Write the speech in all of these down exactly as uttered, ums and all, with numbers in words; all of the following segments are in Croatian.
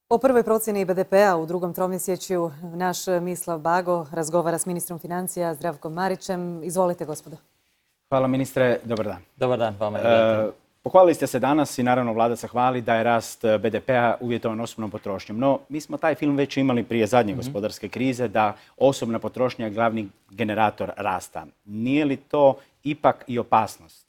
O prvoj procjeni be de pea u drugom tromjesečju naš Mislav Bago razgovara s ministrom financija Zdravkom Marićem. Izvolite, gospodo. Hvala, ministre. Dobar dan. Dobar dan, vama. E, pohvalili ste se danas i naravno vlada se hvali da je rast be de pea uvjetovan osobnom potrošnjom. No, mi smo taj film već imali prije zadnje mm-hmm. gospodarske krize, da osobna potrošnja je glavni generator rasta. Nije li to ipak i opasnost?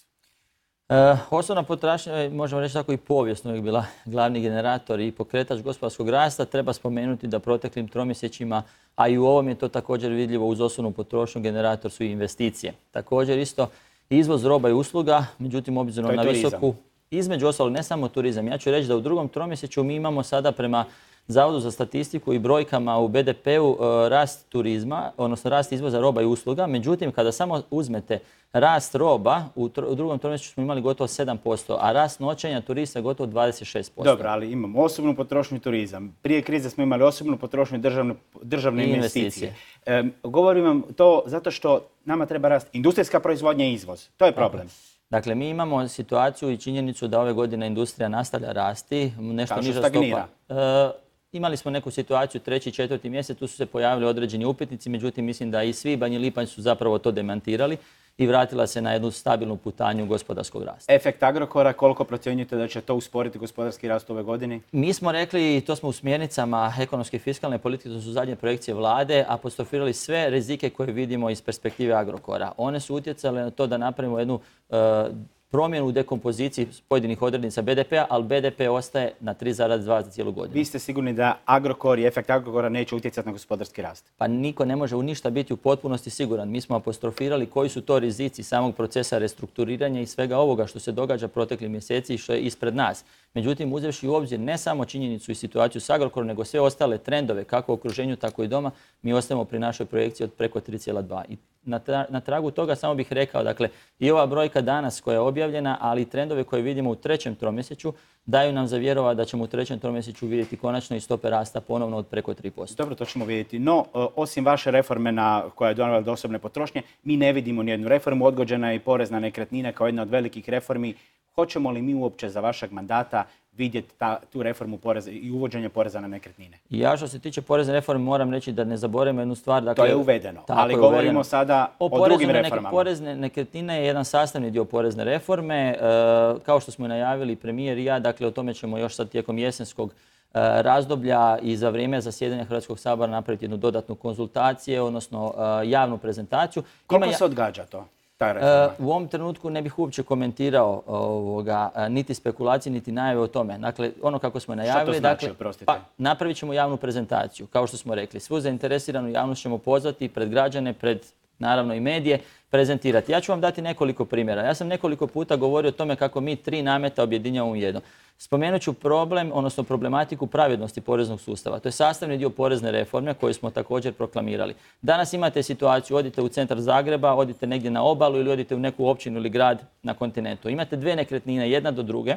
E, osobna potražnja, možemo reći tako i povijesno je bila glavni generator i pokretač gospodarskog rasta. Treba spomenuti da proteklim tromjesečjima, a i u ovom je to također vidljivo uz osobnu potrošnju, generator su i investicije. Također isto izvoz roba i usluga, međutim obzirom na visoku, između ostalog ne samo turizam. Ja ću reći da u drugom tromjesečju mi imamo sada prema Zavodu za statistiku i brojkama u be de peu rast turizma, odnosno rast izvoza roba i usluga. Međutim, kada samo uzmete rast roba, u, u drugom tromjesečju smo imali gotovo sedam posto, a rast noćenja turista gotovo dvadeset šest posto. Dobro, ali imamo osobnu potrošnju i turizam. Prije krize smo imali osobnu potrošnju i državne, državne investicije. investicije. E, govorim vam to zato što nama treba rast industrijska proizvodnja i izvoz. To je problem. Dobro. Dakle, mi imamo situaciju i činjenicu da ove godine industrija nastavlja rasti. Nešto Kao što niža stagnira. stopa. E, Imali smo neku situaciju treći, četvrti mjesec, tu su se pojavili određeni upitnici, međutim mislim da i svibanj i lipanj su zapravo to demantirali i vratila se na jednu stabilnu putanju gospodarskog rasta. Efekt Agrokora, koliko procjenjujete da će to usporiti gospodarski rast ove godine? Mi smo rekli, i to smo u smjernicama ekonomske i fiskalne politike, to su zadnje projekcije vlade, apostrofirali sve rizike koje vidimo iz perspektive Agrokora. One su utjecale na to da napravimo jednu uh, promjenu u dekompoziciji pojedinih odrednica be de pea, ali be de pe ostaje na tri zarez dva za cijelu godinu. Vi ste sigurni da Agrokor i efekt Agrokora neće utjecati na gospodarski rast? Pa niko ne može u ništa biti u potpunosti siguran. Mi smo apostrofirali koji su to rizici samog procesa restrukturiranja i svega ovoga što se događa proteklih mjeseci i što je ispred nas. Međutim, uzevši u obzir ne samo činjenicu i situaciju s Agrokorom, nego sve ostale trendove, kako u okruženju, tako i doma, mi ostajemo pri našoj projekciji od preko tri zarez dva. I na, tra na tragu toga samo bih rekao, dakle, i ova brojka danas koja je objavljena, ali i trendove koje vidimo u trećem tromjesečju, daju nam za vjerovati da ćemo u trećem tromjesečju vidjeti konačno i stope rasta ponovno od preko tri posto. Dobro, to ćemo vidjeti. No, osim vaše reforme na, koja je donijela do osobne potrošnje, mi ne vidimo nijednu reformu. Odgođena je i porez na nekretnine kao jedna od velikih reformi. Hoćemo li mi uopće za vašeg mandata vidjeti ta, tu reformu poreza i uvođenje poreza na nekretnine? Ja što se tiče porezne reforme moram reći da ne zaboravimo jednu stvar. Dakle, to je uvedeno, ali je govorimo uvedeno. sada o, o drugim reformama. Porezne nekretnine je jedan sastavni dio porezne reforme. E, kao što smo najavili premijer i ja, dakle o tome ćemo još sad tijekom jesenskog e, razdoblja i za vrijeme zasjedanja Hrvatskog sabora napraviti jednu dodatnu konzultacije, odnosno e, javnu prezentaciju. Koliko Ima, se odgađa to? U ovom trenutku ne bih uopće komentirao ovoga, niti spekulacije, niti najave o tome. Dakle, ono kako smo najavili, što to znači, dakle, pa, napravit ćemo javnu prezentaciju. Kao što smo rekli, svu zainteresiranu javnost ćemo pozvati pred građane, pred naravno i medije, prezentirati. Ja ću vam dati nekoliko primjera. Ja sam nekoliko puta govorio o tome kako mi tri nameta objedinjavamo u jedno. Spomenut ću problem, odnosno problematiku pravednosti poreznog sustava. To je sastavni dio porezne reforme koju smo također proklamirali. Danas imate situaciju, odite u centar Zagreba, odite negdje na obalu ili odite u neku općinu ili grad na kontinentu. Imate dvije nekretnine, jedna do druge,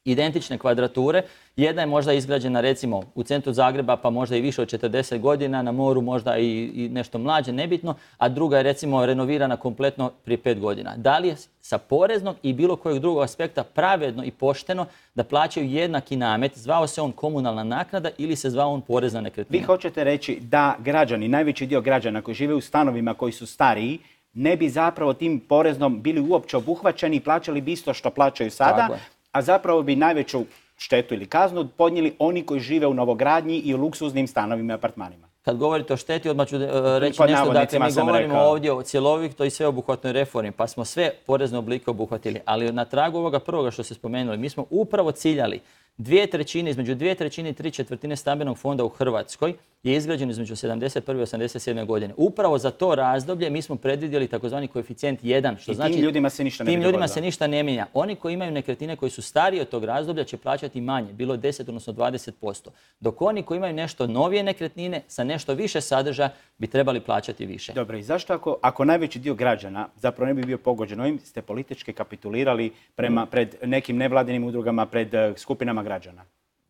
identične kvadrature. Jedna je možda izgrađena recimo u centru Zagreba pa možda i više od četrdeset godina, na moru možda i, i nešto mlađe, nebitno, a druga je recimo renovirana kompletno prije pet godina. Da li je sa poreznog i bilo kojeg drugog aspekta pravedno i pošteno da plaćaju jednaki namet, zvao se on komunalna naknada ili se zvao on porez na nekretnine? Vi hoćete reći da građani, najveći dio građana koji žive u stanovima koji su stariji, ne bi zapravo tim poreznom bili uopće obuhvaćeni i plaćali bi isto što plaćaju sada, a zapravo bi najveću štetu ili kaznu podnijeli oni koji žive u novogradnji i u luksuznim stanovima i apartmanima. Kad govorite o šteti, odmah ću reći nešto, dakle mi govorimo ovdje o cjelovitoj i sveobuhvatnoj reformi, pa smo sve porezne oblike obuhvatili, ali na tragu ovoga prvoga što ste spomenuli, mi smo upravo ciljali dvije trećine, između dvije trećine i tri četvrtine stambenog fonda u Hrvatskoj je izgrađen između sedamdeset prve i osamdeset sedme godine. Upravo za to razdoblje mi smo predvidjeli takozvani koeficijent jedan, što I znači tim ljudima se ništa ne tim ljudima se ništa ne mijenja. Oni koji imaju nekretnine koji su stariji od tog razdoblja će plaćati manje, bilo deset odnosno dvadeset posto. Dok oni koji imaju nešto novije nekretnine sa nešto više sadržaja bi trebali plaćati više. Dobro, i zašto ako, ako najveći dio građana zapravo ne bi bio pogođen ovim, ste politički kapitulirali prema, pred nekim nevladinim udrugama, pred skupinama građana?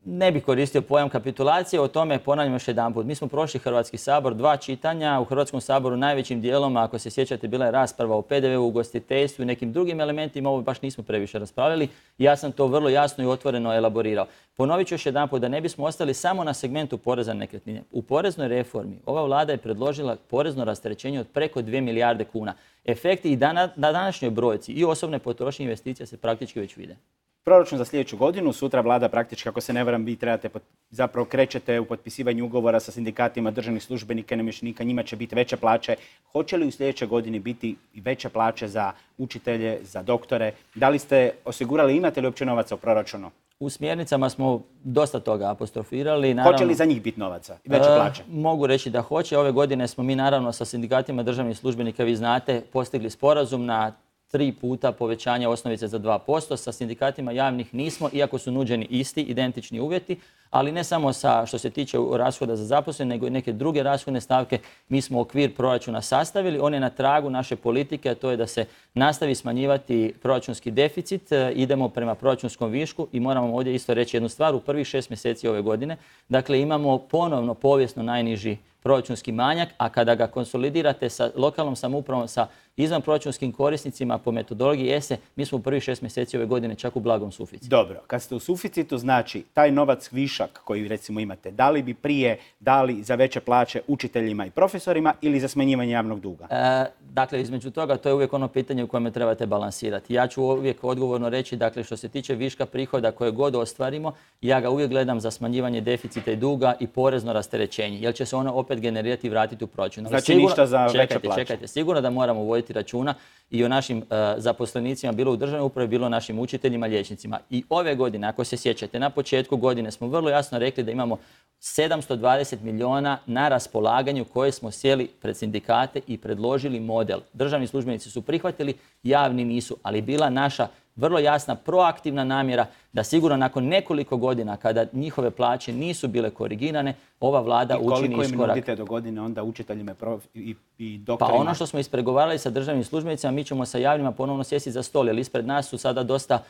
ne bih koristio pojam kapitulacije, o tome ponavljam još jedanput. Mi smo prošli Hrvatski sabor, dva čitanja, u Hrvatskom saboru najvećim dijelom, ako se sjećate, bila je rasprava o P D V-u, ugostiteljstvu i nekim drugim elementima, ovo baš nismo previše raspravljali. Ja sam to vrlo jasno i otvoreno elaborirao. Ponovit ću još jedanput da ne bismo ostali samo na segmentu poreza na nekretnine. U poreznoj reformi ova vlada je predložila porezno rasterećenje od preko dvije milijarde kuna. Efekti i na današnjoj brojci i osobne potrošnje investicija se praktički već vide. Proračun za sljedeću godinu, sutra vlada praktički, ako se ne varam, vi trebate, zapravo krećete u potpisivanju ugovora sa sindikatima državnih službenika i namještenika, njima će biti veće plaće. Hoće li u sljedećoj godini biti veće plaće za učitelje, za doktore? Da li ste osigurali, imate li uopće novaca u proračunu? U smjernicama smo dosta toga apostrofirali. Naravno, hoće li za njih biti novaca i veće plaće? E, mogu reći da hoće. Ove godine smo mi naravno sa sindikatima državnih službenika, vi znate, postigli sporazum na tri puta povećanje osnovice za dva posto. Sa sindikatima javnih nismo, iako su nuđeni isti, identični uvjeti, ali ne samo sa što se tiče rashoda za zaposlene, nego i neke druge rashodne stavke. Mi smo okvir proračuna sastavili, on je na tragu naše politike, a to je da se nastavi smanjivati proračunski deficit, idemo prema proračunskom višku i moramo ovdje isto reći jednu stvar, u prvih šest mjeseci ove godine, dakle imamo ponovno povijesno najniži proračunski manjak, a kada ga konsolidirate sa lokalnom samoupravom, sa izvanproračunskim korisnicima po metodologiji E S E, mi smo u prvih šest mjeseci ove godine čak u blagom suficitu. Dobro, kad ste u suficitu, znači taj novac višak koji recimo imate, da li bi prije dali za veće plaće učiteljima i profesorima ili za smanjivanje javnog duga? E, dakle, između toga, to je uvijek ono pitanje u kojem trebate balansirati. Ja ću uvijek odgovorno reći, dakle, što se tiče viška prihoda koje god ostvarimo, ja ga uvijek gledam za smanjivanje deficita i duga i porezno rasterećenje, jer će se ono opet generirati i vratiti u proračun. Znači sigurno, ništa za čekajte, veće plaće. Čekajte, sigurno da moramo voditi računa i o našim uh, zaposlenicima, bilo u državnoj upravi, bilo o našim učiteljima, liječnicima. I ove godine, ako se sjećate, na početku godine smo vrlo jasno rekli da imamo sedamsto dvadeset milijuna na raspolaganju koje smo sjeli pred sindikate i predložili model. Državni službenici su prihvatili, javni nisu, ali bila naša vrlo jasna proaktivna namjera da sigurno nakon nekoliko godina kada njihove plaće nisu bile korigirane, ova vlada učini iskorak. I koliko im nudite do godine onda učiteljima i, i doktorima? Pa ono što smo ispregovarali sa državnim službenicima, mi ćemo sa javnima ponovno sjesti za stol, jer ispred nas su sada dosta,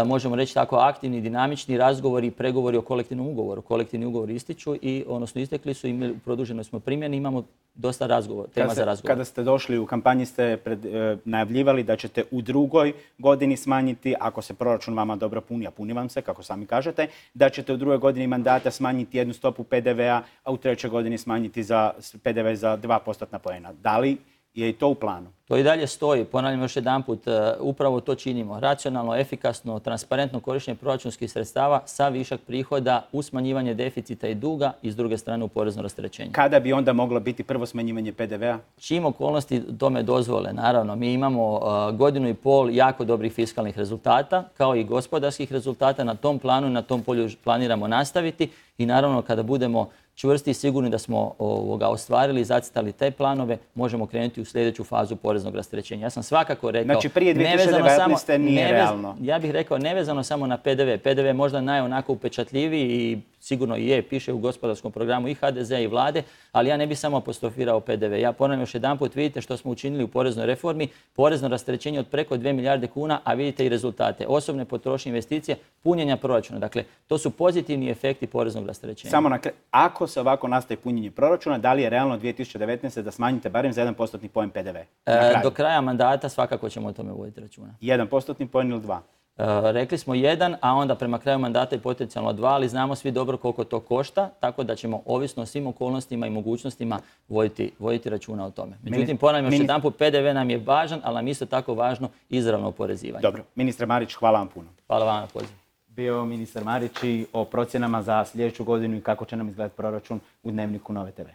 možemo reći tako, aktivni, dinamični razgovori i pregovori o kolektivnom ugovoru. Kolektivni ugovori ističu i odnosno istekli su i u produženoj smo primjeni, imamo dosta razgovor, tema kada za razgovor. Kada ste došli u kampanji ste pred, e, najavljivali da ćete u drugoj godini smanjiti, ako se proračun vama dobro puni, a puni vam se, kako sami kažete, da ćete u drugoj godini mandata smanjiti jednu stopu P D V-a, a u trećoj godini smanjiti za P D V za dva postotna poena. Da li je i to u planu? To i dalje stoji. Ponavljam još jedanput, upravo to činimo. Racionalno, efikasno, transparentno korištenje proračunskih sredstava sa višak prihoda u smanjivanje deficita i duga i s druge strane u porezno rasterećenje. Kada bi onda moglo biti prvo smanjivanje P D V-a? Čim okolnosti tome dozvole, naravno. Mi imamo uh, godinu i pol jako dobrih fiskalnih rezultata, kao i gospodarskih rezultata. Na tom planu i na tom polju planiramo nastaviti i naravno kada budemo čvrsti i sigurni da smo ovoga, ostvarili i zacitali te planove, možemo krenuti u sljedeću fazu poreznog rasterećenja. Ja sam svakako rekao... Znači prije dvije tisuće devetnaeste nije nevez, realno. Ja bih rekao nevezano samo na P D V. P D V je možda najonako upečatljiviji i sigurno i je, piše u gospodarskom programu i H D Z i vlade, ali ja ne bih samo apostrofirao P D V. Ja ponavljam još jedanput, vidite što smo učinili u poreznoj reformi, porezno rasterećenje od preko dvije milijarde kuna, a vidite i rezultate. Osobne potrošnje, investicije, punjenja proračuna. Dakle, to su pozitivni efekti poreznog rasterećenja. Samo na kraju, ako se ovako nastavi punjenje proračuna, da li je realno dvije tisuće devetnaeste da smanjite barem za jedan postotni poen P D V? E, do kraja mandata svakako ćemo o tome voditi računa. Jedan postotni poen ili dva? E, rekli smo jedan, a onda prema kraju mandata i potencijalno dva, ali znamo svi dobro koliko to košta, tako da ćemo ovisno o svim okolnostima i mogućnostima voditi, voditi računa o tome. Međutim, ponavljam još jedanput, P D V nam je važan, ali nam isto tako važno izravno oporezivanje. Dobro. Ministre Marić, hvala vam puno. Hvala vam na pozivu. Bio ministar Marić i o procjenama za sljedeću godinu i kako će nam izgledati proračun u Dnevniku Nove T V.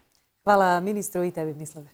Hvala ministru i tebi, Mislave.